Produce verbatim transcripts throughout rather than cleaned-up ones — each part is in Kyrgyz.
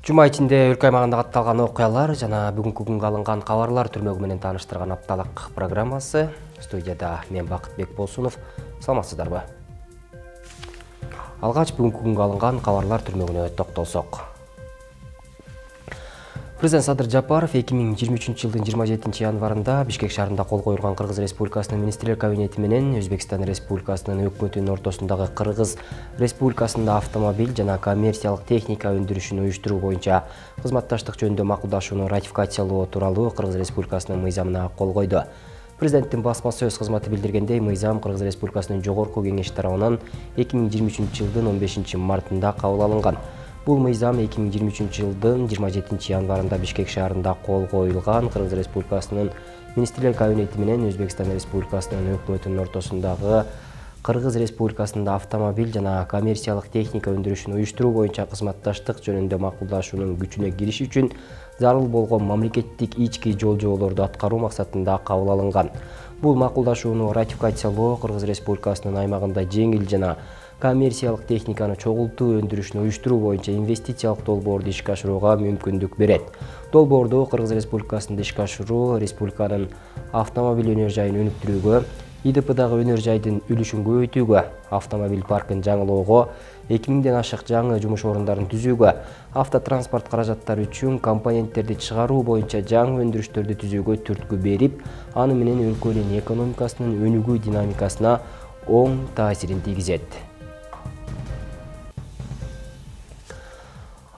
Жума ичинде өлкө аймагында катталган окуялар жана бүгүнкү күнгө алынган кабарлар түрмөгү менен тааныштырган апталык программасы. Студияда мен Бакытбек Болсунов. Саламатсыздарбы? Алгач бүгүнкү күнгө алынган кабарлар түрмөгүнө токтолсок. Президент Садыр Жапаров эки миң жыйырма үчүнчү жылдын жыйырма жетинчи январында Бишкек шаарында кол коюлган Кыргыз Республикасынын Министрлер кабинети менен Өзбекстан Республикасынын өкмөтүнүн ортосундагы Кыргыз Республикасында автомобиль жана коммерциялык техника өндүрүшүн уюштуруу боюнча кызматташтык жөнүндө макулдашууну ратификациялоо тууралуу Кыргыз Республикасынын мыйзамына кол койду. Президенттин басма сөз кызматы билдиргендей, мыйзам Кыргыз Республикасынын Жогорку Кеңеши тарабынан эки миң жыйырма үчүнчү жылдын он бешинчи мартында кабыл алынган. Бул мыйзам эки миң жыйырма үчүнчү жылдын жыйырма жетинчи январында Бишкек шаарында кол коюлган Кыргыз Республикасынын Министрлер кабинети менен Өзбекстан Республикасынын өкмөтүнүн ортосундагы Кыргыз Республикасында автомобиль жана коммерциялык техника өндүрүшүн уюштуруу боюнча кызматташтык жөнүндө макулдашуунун күчүнө кириши үчүн зарыл болгон мамлекеттик ички жол-жоолорду аткаруу максатында кабыл алынган. Бул макулдашууну ратификациялоо Кыргыз Республикасынын аймагында жеңил жана коммерциялык техниканы чогултуу өндүрүшүн уюштуруу боюнча инвестициялык долбоорду ишке ашырууга мүмкүндүк берет. Долбоорду Кыргыз Республикасында ишке ашыруу республиканын автомобиль өнөр жайын өнүктүрүүгө, И Д П'дагы өнөр жайдын үлүшүн көбөйтүүгө, автомобиль паркын жаңылоого, эки миңден ашык жаңы жумуш орундарын түзүүгө, автотранспорт каражаттары үчүн компоненттерди чыгаруу боюнча жаңы өндүрүштөрдү түзүүгө түрткү берип, аны менен өлкөнүн экономикасынын өнүгүү динамикасына оң таасирин тийгизет.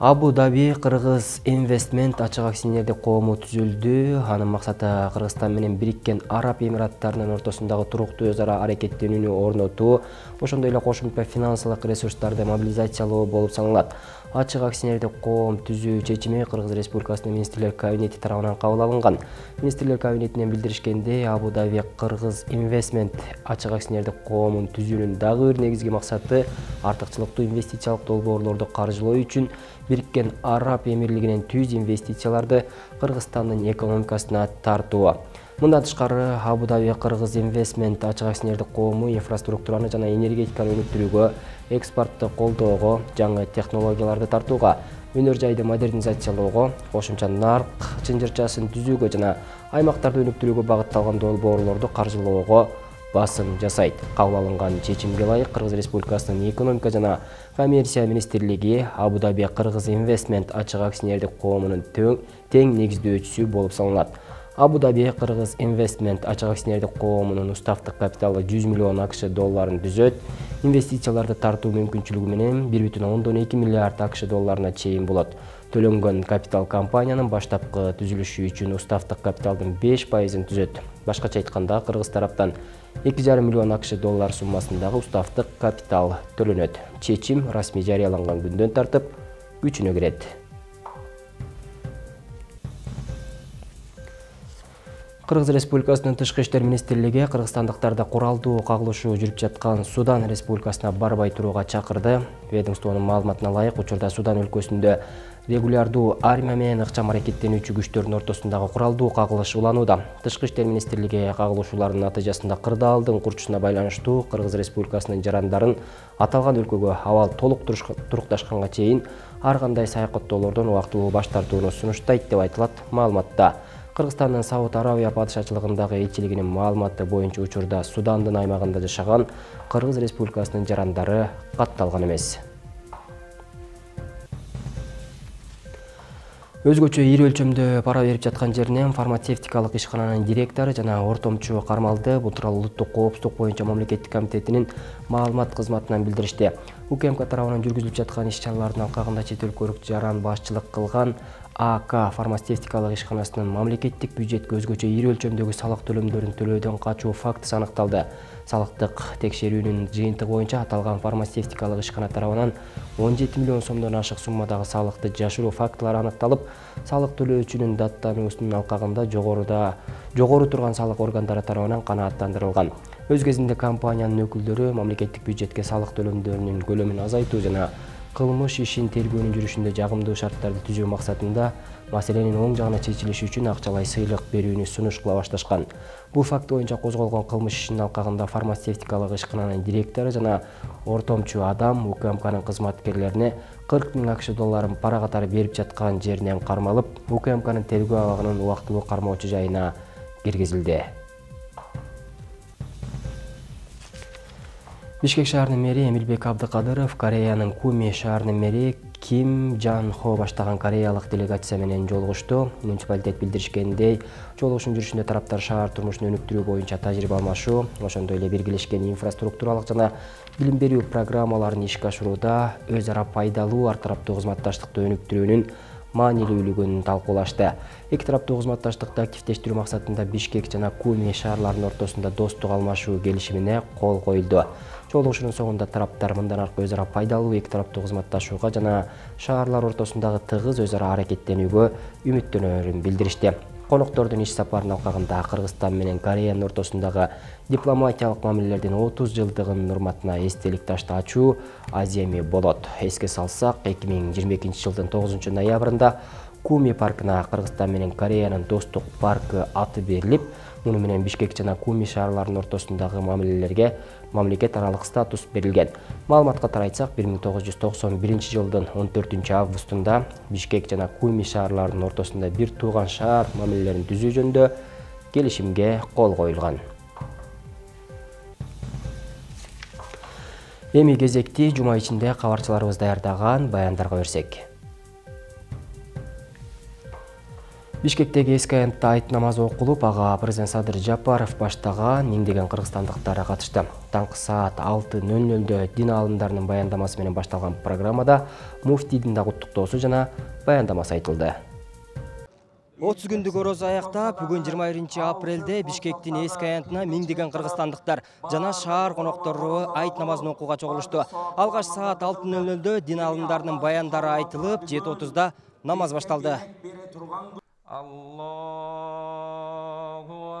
Абу Даби Кыргыз Инвестмент ачык акционердик коому түзүлдү. Анын максаты Кыргызстан менен Бириккен Араб Эмираттарынын ортосундагы туруктуу өз ара аракеттенүүнү орнотуу, ошондой эле кошумча финансылык ресурстарды мобилизациялоо болуп саналат. Ачык акционердик коом түзүү чечими Кыргыз Республикасынын Министрлер кабинети тарабынан кабыл алынган. Министрлер кабинетинен билдиришкендей, Абу Даби Кыргыз Инвестмент ачык акционердик коомун түзүүнүн дагы бир негизги максаты артыкчылыктуу инвестициялык долбоорлорду каржылоо үчүн Бириккен Араб Эмирлигинен түз инвестицияларды Кыргызстандын экономикасына тартуу. Мындан тышкары, Абу Даби Кыргыз Инвестмент ачык акционердик коому инфраструктураны жана энергетиканы өнүктүрүүгө, экспортто колдоого, жаңы технологияларды тартууга, өнөр жайды модернизациялоого, кошумча нарк чынжырчасын түзүүгө жана аймактарды өнүктүрүүгө багытталган долбоорлорду каржылоого басым жасайт. Кабыл алынган чечимге ылайык Кыргыз Республикасынын экономика жана коммерция министрлиги Абу Даби Кыргыз Инвестмент ачык акционердик коомунун тең негиздөөчүсү болуп саналат. Абу Даби Кыргыз Инвестмент ачык акционердик коомунун уставдык капиталы жүз миллион АКШ долларын түзөт. Инвестицияларды тартуу мүмкүнчүлүгү менен бир бүтүн ондон эки миллиард АКШ долларына чейин болот. Төлөнгөн капитал компаниянын баштапкы түзүлүшү үчүн уставдык капиталдын беш пайызын түзөт. Башкача айтканда, Кыргыз тараптан эки жарым миллион АКШ доллар суммасындагы уставдык капитал төлөнөт. Чечим расмий жарыяланган күндөн тартып күчүнө кирет. Кыргыз Республикасынын Тышкы иштер министрлиги кыргызстандыктарды куралдуу кагылышуу жүрүп жаткан Судан Республикасына барбай турууга чакырды. Ведомствонун маалыматына ылайык, учурда Судан өлкөсүндө регулярдуу армия менен ыкчам аракеттенүүчү күчтөрдүн ортосундагы куралдуу кагылыш уланууда. Тышкы иштер министрлиги кагылышуулардын натыйжасында кырдаалдын курчусуна байланыштуу Кыргыз Республикасынын жарандарын аталган өлкөгө абал толук турукташканга чейин ар кандай саякаттоолордон убактылуу баш тартууну сунуштайт деп айтылат маалыматта. Кыргызстандын Сауд Арабия падышачылыгындагы элчилигинин маалыматы боюнча, учурда Судандын аймагында жашаган Кыргыз Республикасынын жарандары катталган эмес. Өзгөчө ири өлчөмдө пара берип жаткан жеринен фармацевтикалык ишкананын директору жана ортомчу кармалды. Бул тууралуу Улуттук коопсуздук боюнча мамлекеттик комитетинин маалымат кызматынан билдиришти. УКМК тарабынан жүргүзүлүп жаткан иш-чаралардын алкагында чет өлкөлүк жаран башчылык кылган А К фармацевтикалык ишканасынын мамлекеттик бюджетке өзгөчө ири өлчөмдөгү салык төлөмдөрүн төлөөдөн качуу фактысы аныкталды. Салыктык текшерүүнүн жыйынтыгы боюнча аталган фармацевтикалык ишкана тарабынан он жети миллион сомдон ашык суммадагы салыкты жашыруу фактылары аныкталып, салык төлөөчүнүн даттануусунун алкагында жогоруда жогору турган салык органдары тарабынан канааттандырылган. Өз кезинде компаниянын өкүлдөрү мамлекеттик бюджетке салык төлөмдөрүнүн көлөмүн азайтуу жана кылмыш ишин тергөөнүн жүрүшүндө жагымдуу шарттарды түзүү максатында маселенин оң жагына чечилиши үчүн акчалай сыйлык берүүнү сунуш кыла башташкан. Бул факт боюнча козголгон кылмыш ишинин алкагында фармацевтикалык ишкананын директору жана ортомчу адам УКМКнын кызматкерлерине кырк миң акш долларын пара катары берип жаткан жеринен кармалып, УКМКнын тергөө абагынын убактылуу кармоочу жайына киргизилди. Бишкек шаарынын мэри Эмилбек Абдыкадыров Кореянын Куми шаарынын мэри Ким Жан Хо баштаган кореялык делегация менен жолугушту. Муниципалитет билдиришкендей, жолугушуун жүрүшүндө тараптар шаар турмушун өнүктүрүү боюнча тажрыйба алмашуу, ошондой эле биргелешкен инфраструктуралык жана билим берүү программаларын ишке ашырууда өз ара пайдалуу ар тараптуу кызматташтыкты өнүктүрүүнүн маанилүүлүгүн талкуулашты. Эки тараптуу кызматташтыкты активдештирүү максатында Бишкек жана Куми шаарларынын ортосунда достук алмашуу келишимине кол коюлду. Жолугушуунун соңунда тараптар мындан аркы өз ара пайдалуу эки тараптуу кызматташууга жана шаарлар ортосундагы тыгыз өз ара аракеттенүүгө үмүттөнөрүн билдиришти. Коноктордун иш сапарынын алкагында Кыргызстан менен Кореянын ортосундагы дипломатиялык мамилелердин отуз жылдыгынын урматына эстелик ташты ачуу аземи болот. Эске салсак, эки миң жыйырма экинчи жылдын тогузунчу ноябрында Куми паркына Кыргызстан менен Кореянын достук паркы аты берилип, муну менен Бишкек жана Куми шаарларынын ортосундагы мамилелерге мамлекет аралык статус берилген. Маалыматка тарайтсак, бир миң тогуз жүз токсон биринчи жылдын он төртүнчү августунда Бишкек жана Куми шаарларынын ортосунда бир тууган шаар мамилелерин түзүү жөнүндө келишимге кол коюлган. Эми кезекти жума ичинде кабарчыларыбыз даярдаган баяндарга берсек. Бишкектеги эски аянтта айт намазы окулуп, ага президент Садыр Жапаров баштаган миңдеген кыргызстандыктар катышты. Таңкы саат алты нөл нөлдө дин аалымдарынын баяндамасы менен башталган программада муфтийдин да куттуктоосу жана баяндамасы айтылды. отуз күндүк орозо аяктап, бүгүн жыйырма биринчи апрелде Бишкектин эски аянтына миңдеген кыргызстандыктар жана шаар коноктору айт намазын окууга чогулушту. Алгач саат алты нөл нөлдө дин аалымдарынын баяндары айтылып, жети отузда намаз башталды. Аллаху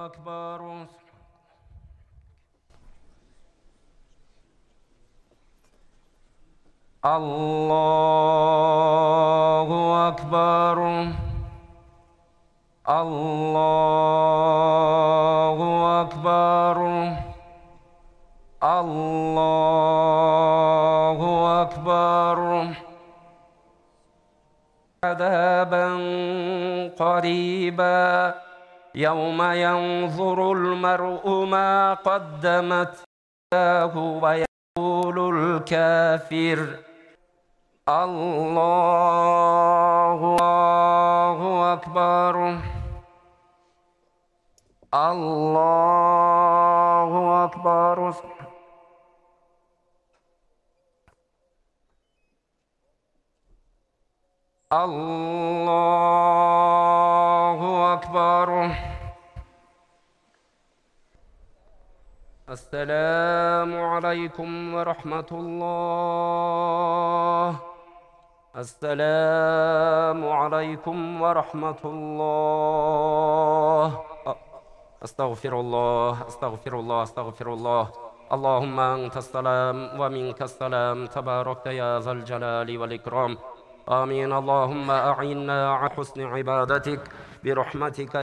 акбар. Аллаху акбар. Аллаху акбар. Аллаху акбар. عذابا قريبا يوم ينظر المرء ما قدمت يداه ويقول الكافر الله أكبر الله أكبر الله أكبر. السلام عليكم ورحمة الله. السلام عليكم ورحمة الله. أستغفر الله أستغفر الله أستغفر الله. اللهم أنت السلام ومنك السلام تباركت يا ذا الجلال والإكرام. آمين. اللهم أعنا على حسن عبادتك برحمتك.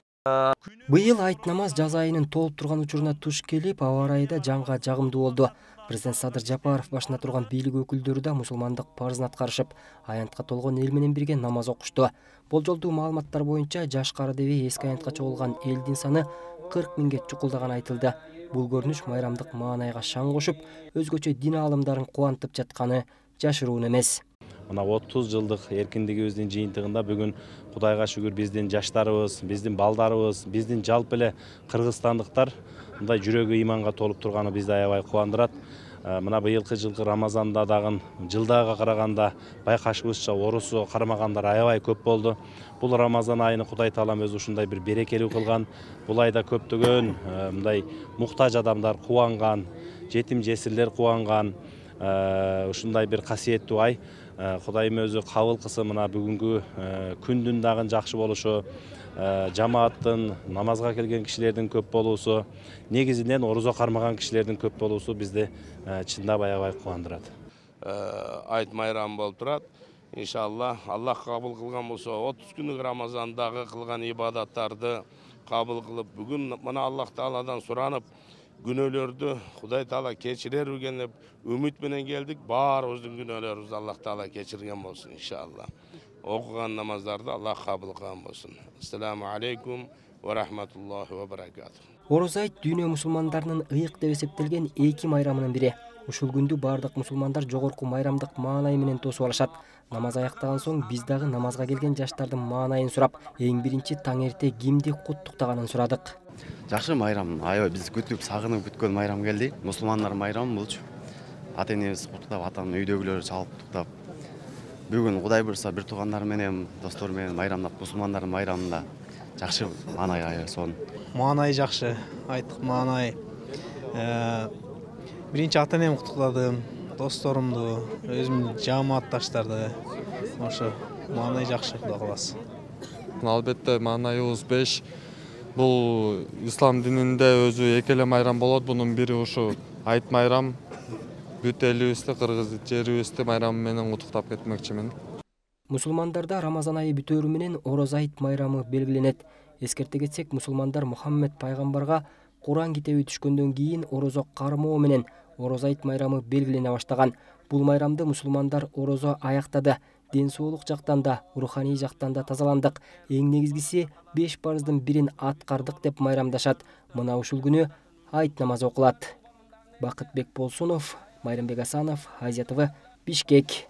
Быйыл айт намаз жаз айынын толуп турган учуруна туш келип, аба ырайы да жанга жагымдуу болду. Президент Садыр Жапаров башына турган бийлик өкүлдөрү да мусулмандык парызын аткарышып, аянтка толгон эл менен бирге намаз окушту. Болжолдуу маалыматтар боюнча жаш кары деби эски аянтка чогулган элдин саны кырк миңге чукулдаганы айтылды. Бул көрүнүш майрамдык маанайга шаң кошуп, өзгөчө дин аалымдарын кубантып жатканы жашыруун эмес. Мына отуз жылдык эркиндигибиздин жыйынтыгында бүгүн Кудайга шүгүр биздин жаштарыбыз, биздин балдарыбыз, биздин жалпы эле кыргызстандыктар мындай жүрөгү иманга толуп турганы бизди аябай кубандырат. Мына быйылкы жылкы Рамазанда дагы жылдага караганда байкашыбызча орусу кармагандар аябай көп болду. Бул Рамазан айыны Кудай Таалам өзү ушундай бир берекелүү кылган. Бул айда көптөгөн мындай муктаж адамдар кубанган, жетим жесирлер кубанган, ушундай бир касиеттүү ай. Кудайым өзү кабыл кылсын, мына бүгүнкү күндүн дагы жакшы болушу, жамааттын, намазга келген кишилердин көп болуусу, негизинен орозо кармаган кишилердин көп болуусу бизди чындап аябай кубандырат. айт майрамы болуп турат. Иншалла, Аллах кабыл кылган болсо, отуз күнүк Рамазандагы кылган ибадаттарды кабыл кылып, бүгүн мына Аллах Тааладан суранып, күнөөлөрдү Кудай Таала кечирербиген деп үмүт менен келдик. Баарыбыздын күнөөлөрүбүздү Аллах Таала кечирген болсун иншалла. Окуган намаздарды Аллах кабыл кылган болсун. Ассаламу алейкум ва рахматуллахи ва баракатух. Ороз айт дүйнө мусулмандарынын ыйык деп эсептелген эки майрамынын бири. Ушул күндү бардык мусулмандар жогорку майрамдык маанай менен тосуп алышат. Намаз аяктаган соң биз дагы намазга келген жаштардын маанайын сурап, эң биринчи таң эрте кимди куттуктаганын сурадык. Жакшы майрам, аябай биз күтүп, сагынып күткөн майрам келди. Мусулмандар майрамы булчу. Ата энебиз куттуктап, атам үйдөгүлөр чалып куттуктап. Бүгүн Кудай буйрса бир туугандар менен, достор менен майрамдап, мусулмандардын майрамында жакшы маанай аябай сонун. Маанай жакшы, айттык маанай. Биринчи ата энемди куттуктадым, досторумду, өзүмдүн жамаатташтарды. Ошо маанай жакшы, Кудай кааласа. Албетте маанайыбыз беш. Бул ислам дининде өзү эки эле майрам болот. Бунун бири ушу айт майрам. Бүт элибизди, кыргыз жерибизди майрамы менен куттуктап кетмекчимин. Мусулмандарда Рамазан айы бүтөөрү менен Ороз айт майрамы белгиленет. Эскерте кетсек, мусулмандар Мухаммед пайгамбарга Куран китеби түшкөндөн кийин орозо кармоо менен Ороз айт майрамы белгилене баштаган. Бул майрамды мусулмандар орозо аяктады. Ден соолук жактан да, руханий жактан да тазаландык. Эң негизгиси беш парыздын бирин аткардык деп майрамдашат. Мына ушул күнү айт намазы окулат. Бакытбек Болсунов, Майрамбек Асанов, Азия ТВ, Бишкек.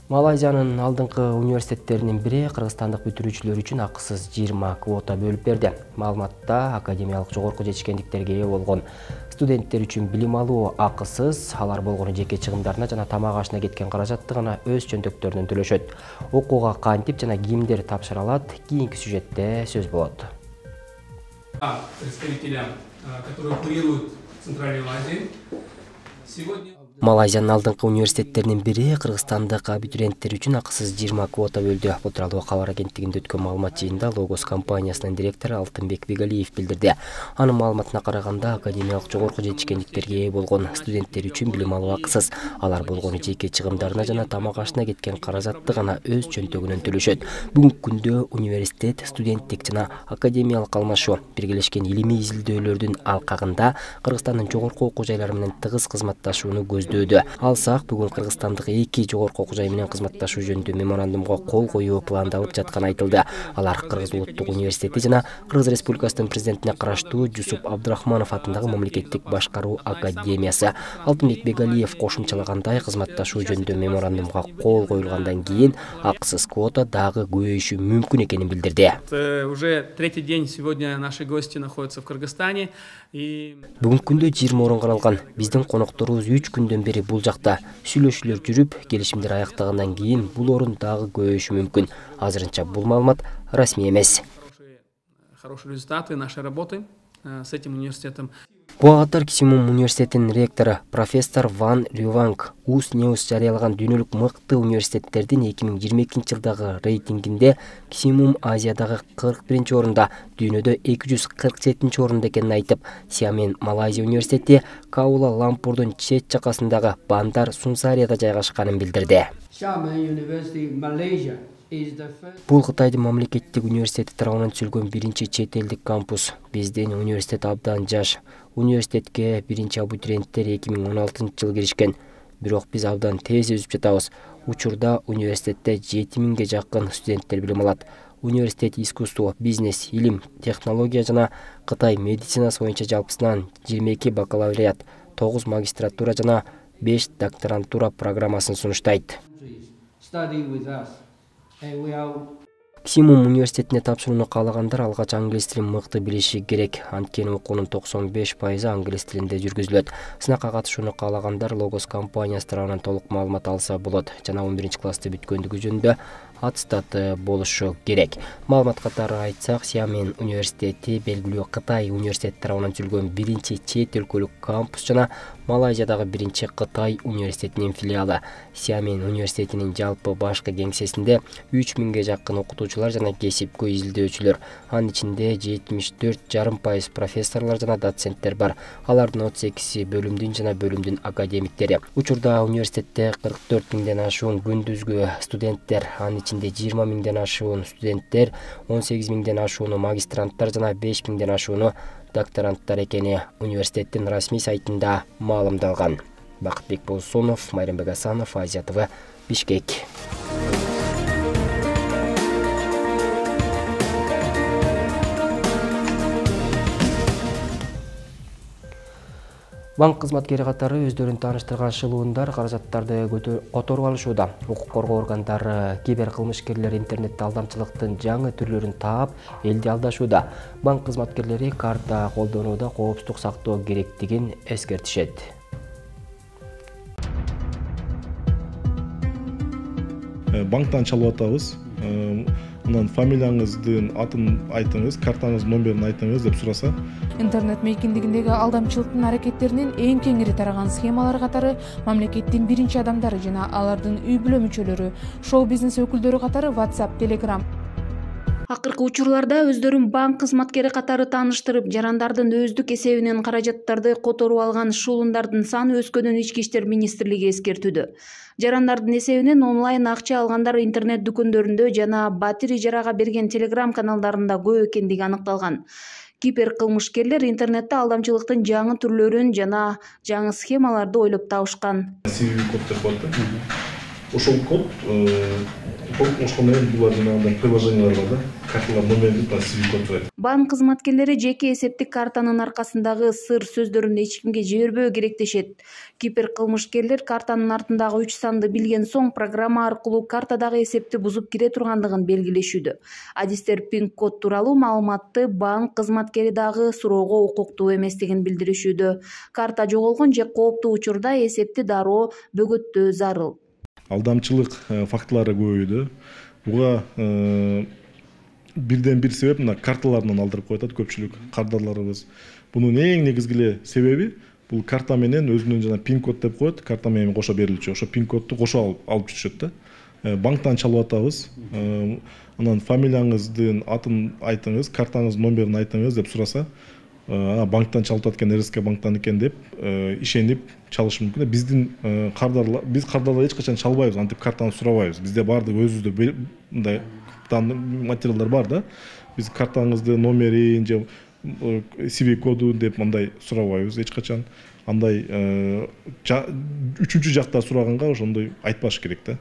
Малайзиянын алдыңкы университеттеринин бири кыргызстандык бүтүрүүчүлөр үчүн акысыз жыйырма квота бөлүп берди. Маалыматта академиялык жогорку жетишкендиктерге ээ болгон студенттер үчүн билим алуу акысыз, алар болгону жеке чыгымдарына жана тамак ашына кеткен каражатты гана өз чөнтөктөрүнөн төлөшөт. Окууга кантип жана кимдер тапшыра алат? Кийинки сюжетте сөз болот. Представителям, которые курируют Центральную Азию. Сегодня Малайзиянын алдыңкы университеттеринин бири кыргызстандык абитуриенттер үчүн акысыз жыйырма квота бөлдү. Бул тууралуу кабар агенттигинде өткөн маалымат жыйынында Логос компаниясынын директору Алтынбек Бегалиев билдирди. Анын маалыматына караганда, академиялык жогорку жетишкендиктерге ээ болгон студенттер үчүн билим алуу акысыз. Алар болгону жеке чыгымдарына жана тамак ашына кеткен каражатты гана өз чөнтөгүнөн төлөшөт. Бүгүнкү күндө университет, студенттик жана академиялык алмашуу, биргелешкен илимий изилдөөлөрдүн алкагында Кыргызстандын жогорку окуу жайлары менен тыгыз кызматташууну көздөйт. Алсак, бүгүн кыргызстандык эки жогорку окуу жай менен кызматташуу жөнүндө меморандумга кол коюу пландалып жатканы айтылды. Алар Кыргыз улуттук университети жана Кыргыз Республикасынын президентине караштуу Жусуп Абдрахманов атындагы мамлекеттик башкаруу академиясы. Алтынбек Бегалиев кошумчалагандай, кызматташуу жөнүндө меморандумга кол коюлгандан кийин акысыз квота дагы көбөйүшү мүмкүн экенин билдирди. Уже третий день сегодня наши гости находятся в Кыргызстане. Бүгүнкү күндө жыйырма орун каралган. Биздин конокторубуз үч күндөн бери бул жакта. Сүйлөшүүлөр жүрүп, келишимдер аяктагандан кийин бул орун дагы көбөйүшү мүмкүн. Азырынча бул маалымат расмий эмес. Хорошие результаты нашей работы с этим университетом. Буагатар Кисимум университетинин ректору профессор Ван Рюванг Ус News жарыялаган дүйнөлүк мыкты университеттердин эки миң жыйырма экинчи жылдагы рейтингинде Кисимум Азиядагы кырк биринчи орунда, дүйнөдө эки жүз кырк жетинчи орунда экенин айтып, Сиамен Малайзия университети Каула Лампурдун чет жакасындагы Бандар Сунсарияда жайгашканын билдирди. Бул Кытайдын мамлекеттик университети тарабынан түзүлгөн биринчи чет элдик кампус. Биздин университет абдан жаш. Университетке биринчи абитуриенттер эки миң он алтынчы жылы киришкен. Бирок биз абдан тез өсүп жатабыз. Учурда университетте жети миңге жакын студенттер билим алат. Университет искусство, бизнес, илим, технология жана Кытай медицинасы боюнча жалпысынан жыйырма эки бакалавриат, тогуз магистратура жана беш докторантура программасын сунуштайт. Кисимум университетине тапшырууну каалагандар алгач англис тилин мыкты билиши керек. Анткени окуунун токсон беш пайызы англис тилинде жүргүзүлөт. Сынакка катышууну каалагандар Логос компаниясы тарабынан толук маалымат алса болот жана он биринчи классты бүткөндүгү жөнүндө аттестаты болушу керек. Маалымат катары айтсак, Сиамен университети белгилүү Кытай университети тарабынан түзүлгөн биринчи чет өлкөлүк кампус жана Малайзиядагы биринчи Кытай университетинин филиалы. Сиамин университетинин жалпы башкы кеңсесинде үч миңге жакын окутуучулар жана кесипкөй изилдөөчүлөр. Анын ичинде жетимиш төрт жарым пайыз профессорлор жана доценттер бар. Алардын отуз экиси бөлүмдүн жана бөлүмдүн академиктери. Учурда университетте кырк төрт миңден ашуун күндүзгү студенттер, анын ичинде жыйырма миңден ашуун студенттер, он сегиз миңден ашууну магистранттар жана беш миңден ашууну докторанттар экени университеттин расмий сайтында маалымдалган. Бакытбек Болсонов, Майрамбек Асанов, Азия ТВ, Бишкек. Банк кызматкери катары өздөрүн тааныштырган шылуундар каражаттарды которуп алышууда. Укук коргоо органдары кибер кылмышкерлер интернетте алдамчылыктын жаңы түрлөрүн таап, элди алдашууда. Банк кызматкерлери карта колдонууда коопсуздук сактоо керектигин эскертишет. Банктан чалып атабыз. Анан фамилияңыздын атын айтыңыз, картаңыздын номерин айтыңыз деп сураса. Интернет мейкиндигиндеги алдамчылыктын аракеттеринин эң кеңири тараган схемалар катары мамлекеттин биринчи адамдары жана алардын үй бүлө мүчөлөрү, шоу-бизнес өкүлдөрү катары WhatsApp, Telegram. Акыркы учурларда өздөрүн банк кызматкери катары тааныштырып, жарандардын өздүк эсебинен каражаттарды которуп алган шуулундардын саны өскөнүн Ички иштер министрлиги эскертүүдө. Жарандардын эсебинен онлайн акча алгандар интернет дүкөндөрүндө жана батир ижарага берген Telegram каналдарында көп экендиги аныкталган. Кибер кылмышкерлер интернетте алдамчылыктын жаңы түрлөрүн жана жаңы схемаларды ойлоп табышкан. код деп коет. Ошол код ошол менен булар жанагындай приложениялар бар да, карталар номерин си ви код турат. Банк кызматкерлери жеке эсептик картанын аркасындагы сыр сөздөрүн эч кимге жибербөө керектешет. Кибер кылмышкерлер картанын артындагы үч санды билген соң программа аркылуу картадагы эсепти бузуп кире тургандыгын белгилешүүдө. Адистер пин-код тууралуу маалыматты банк кызматкери дагы суроого укуктуу эместигин билдиришүүдө. Карта жоголгон же кооптуу учурда эсепти дароо бөгөттөө зарыл. Алдамчылык фактылары көбөйдү. Буга бирден бир себеп мына карталарынан алдырып коет көпчүлүк кардарларыбыз. Бунун эң негизги себеби бул карта менен өзүнүн жана пин-код деп коет, карта менен кошо берилчү. Ошо пин-кодду кошо алып алып жүрүшөт да. Банктан чалып атабыз. Анан фамилияңыздын атын айтыңыз, картаңыздын номерин айтыңыз деп сураса, банктан чалып аткан эр эс ка банктан экен деп ишенип чалышы мүмкүн. Биздин кардарлар, биз кардарлар эч качан чалбайбыз, антип картаны сурабайбыз. Бизде баардык өзүбүздө мындай материалдар бар да. Биз картаңыздын номерин же си ви коду деп мындай сурабайбыз эч качан. Андай үчүнчү жакта сураганга ошондой айтпаш керек да.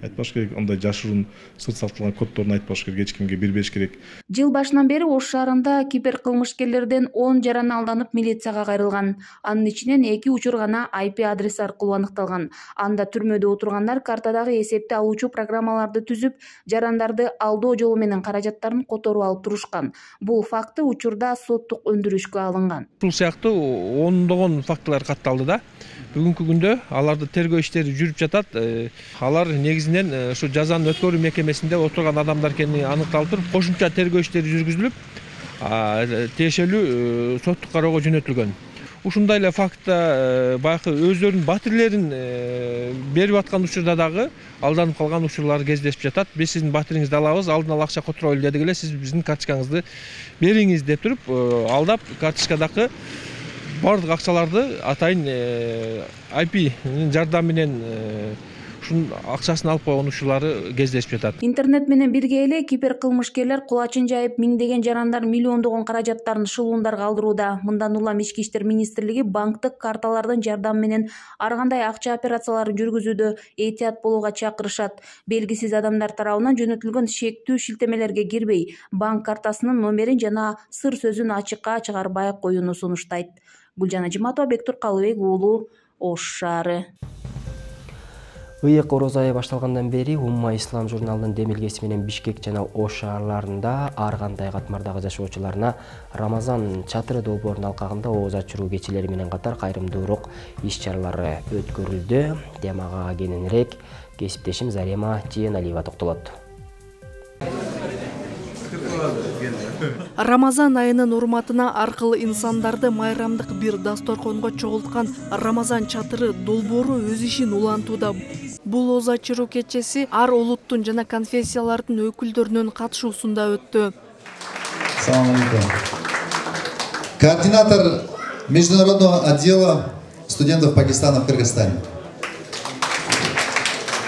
Айтпаш керек, андай жашыруун сыр сакталган коддорун айтпаш керек, эч кимге бербеш керек. Жыл башынан бери Ош шаарында кибер кылмышкерлерден он жаран алданып милицияга кайрылган. Анын ичинен эки учур гана ай пи адрес аркылуу аныкталган. Анда түрмөдө отургандар картадагы эсепти алуучу программаларды түзүп, жарандарды алдоо жолу менен каражаттарын которуп алып турушкан. Бул факты учурда соттук өндүрүшкө алынган. Бул сыяктуу ондогон фактылар катталды да. Бүгүнкү күндө аларды тергөө иштери жүрүп жатат. Алар негизинен ушу жазанын өткөрүү мекемесинде отурган адамдар экени аныкталып туруп, кошумча тергөө иштери жүргүзүлүп, тиешелүү соттук кароого жөнөтүлгөн. Ушундай эле фактта баягы өздөрүнүн батирлерин берип аткан учурда дагы алданып калган учурлар кездешип жатат. Биз сиздин батириңизди алабыз, алдын ала акча которойлу дедик эле, сиз биздин карточкаңызды бериңиз деп туруп, алдап карточкадагы бардык акчаларды атайын ай пи-нин жардамы менен ушунун акчасын алып койгон учурлары кездешип жатат. Интернет менен бирге эле кибер кылмышкерлер кулачын жайып миңдеген жарандар миллиондогон каражаттарын шылуундарга алдырууда. Мындан улам Ички иштер министрлиги банктык карталардын жардамы менен ар кандай акча операцияларын жүргүзүүдө этият болууга чакырышат. Белгисиз адамдар тарабынан жөнөтүлгөн шектүү шилтемелерге кирбей, банк картасынын номерин жана сыр сөзүн ачыкка чыгарбай коюуну сунуштайт. Гүлжан Ажиматова, Бектур Калыбек уулу, Ош шаары. Ыйык ороз айы башталгандан бери Умма Ислам журналынын демилгеси менен Бишкек жана Ош шаарларында ар кандай катмардагы жашоочуларына Рамазан чатыры долбоорунун алкагында ооз ачыруу кечелери менен катар кайрымдуулук иш-чаралары өткөрүлдү. Темага кененирээк кесиптешим Зарема Жээналиева токтолот. Рамазан айынын урматына аркылуу инсандарды майрамдык бир дасторконго чогулткан Рамазан чатыры долбоору өз ишин улантууда. Бул оз ачыруу кечеси ар улуттун жана конфессиялардын өкүлдөрүнүн катышуусунда өттү. Салам алейкум. Координатор международного отдела студентов Пакистана в Кыргызстане.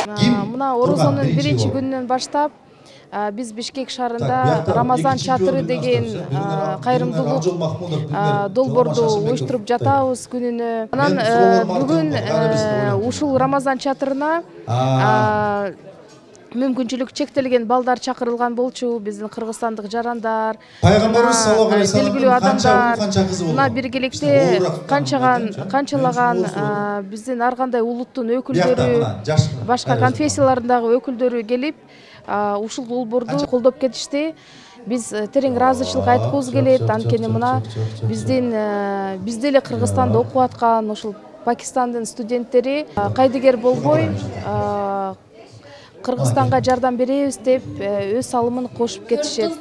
Мына орозонун биринчи күнүнөн баштап биз Бишкек шаарында Рамазан чатыры деген кайрымдуулук долбоорду уюштуруп жатабыз күнүнө. Анан бүгүн ушул Рамазан чатырына мүмкүнчүлүк чектелген балдар чакырылган болчу, биздин кыргызстандык жарандар, белгилүү адамдар. Мына биргеликте канчаган канчалаган биздин ар кандай улуттун өкүлдөрү, башка конфессиялардагы өкүлдөрү келип ушул долбоорду колдоп кетишти. Биз терең ыраазычылык айткыбыз келет. Анткени мына биздин биз деле Кыргызстанда окуп аткан ушул Пакистандын студенттери кайдыгер болбой Кыргызстанга жардам беребиз деп өз салымын кошуп кетишет.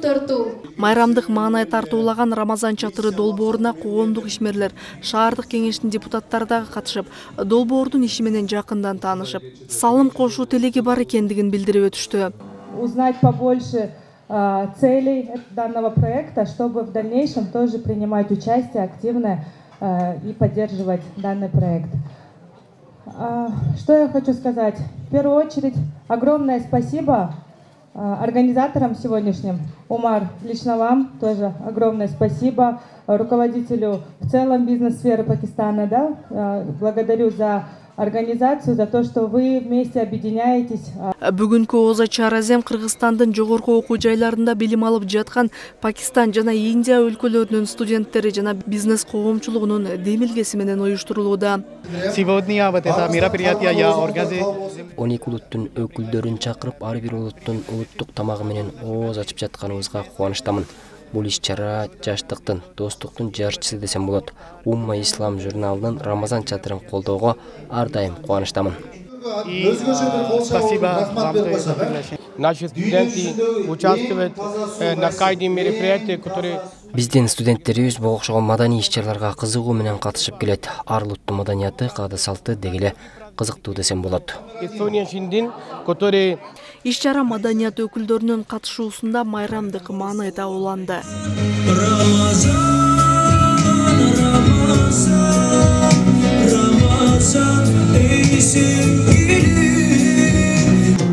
Майрамдык маанай тартуулаган Рамазан чатыры долбооруна коомдук ишмерлер, шаардык кеңештин депутаттары дагы катышып, долбоордун иши менен жакындан таанышып, салым кошуу тилеги бар экендигин билдирип өтүштү. Узнать побольше целей данного проекта, чтобы в дальнейшем тоже принимать участие активно и поддерживать данный проект. Что я хочу сказать? В первую очередь, огромное спасибо организаторам сегодняшним. Умар, лично вам тоже огромное спасибо. Руководителю в целом бизнес-сферы Пакистана, да, благодарю за организацию, за то, что вы вместе объединяетесь. Бүгүнкү оз ачар азем Кыргызстандын жогорку окуу жайларында билим алып жаткан Пакистан жана Индия өлкөлөрүнүн студенттери жана бизнес коомчулугунун демилгеси менен уюштурулууда. он эки улуттун өкүлдөрүн чакырып, ар бир улуттун улуттук тамагы менен ооз ачып жатканыбызга кубанычтамын. Бул иш-чара жаштыктын, достуктун жарчысы десем болот. Умма Ислам журналынын Рамазан чатырын колдоого ар дайым кубанычтамын. Спасибо вам. Наши студенты участвуют на каждом мероприятии, которые... Биздин студенттерибиз буга окшогон маданий иш-чараларга кызыгуу менен катышып келет. Ар улуттун маданияты, каада салты дегеле кызыктуу десем болот. Иш-чара маданият өкүлдөрүнүн катышуусунда майрамдык маанайда уланды.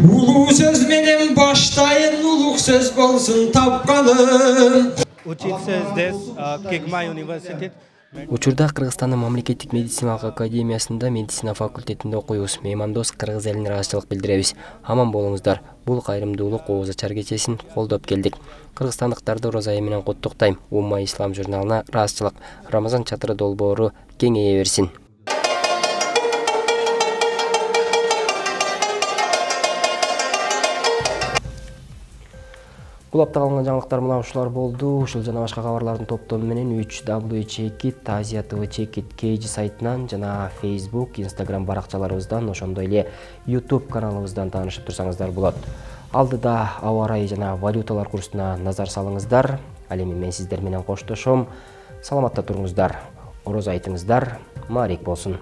Улуу сөз менен баштайын, улук сөз болсун тапканым. Учиться здесь, Кегмай университет. Учурда Кыргызстандын мамлекеттик медициналык академиясында медицина факультетинде окуйбуз. Меймандос кыргыз элине ыраазычылык билдиребиз. Аман болуңуздар. Бул кайрымдуулук ооза ачар кечесин колдоп келдик. Кыргызстандыктарды Орозо айы менен куттуктайм. Умма Ислам журналына ыраазычылык. Рамазан чатыры долбоору кеңейе берсин. Бул апта калган жаңылыктар мына ушулар болду. Ушул жана башка кабарлардын топтому менен үч дабл ю чекит Азия ТВ чекит кейжи сайтынан жана Facebook, Instagram баракчаларыбыздан, ошондой эле YouTube каналыбыздан таанышып турсаңыздар болот. Алдыда аба ырайы жана валюталар курсуна назар салыңыздар. Ал эми мен сиздер менен коштошом. Саламатта туруңуздар. Орозо айтыңыздар. Маарик болсун.